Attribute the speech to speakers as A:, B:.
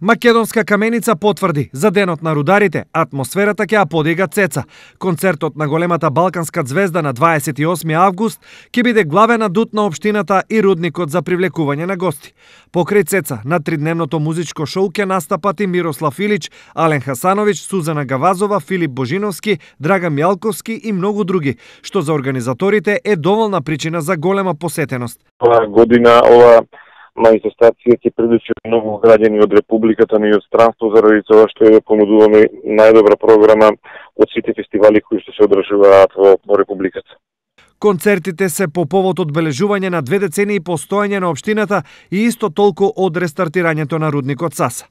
A: Македонска каменица потврди за денот на рударите, атмосферата ќе ја подига Цеца. Концертот на големата балканска ѕвезда на 28 август ќе биде главен адут на општината и рудникот за привлекување на гости. Покрај Цеца на тридневното музичко шоу ќе настапат и Мирослав Илич, Ален Хасановиќ, Сузана Гавазова, Филип Божиновски, Драган Мјалковски и многу други, што за организаторите е доволна причина за голема посетеност.
B: Оваа година ова манифестација ќе привлече многу граѓани од Републиката, но и од странство, заради тоа што ја понудуваме најдобра програма од сите фестивали кои што се одржуваат во Републиката.
A: Концертите се по повод одбележување на 2 децении постоење на општината и исто толку од рестартирањето на рудникот Саса.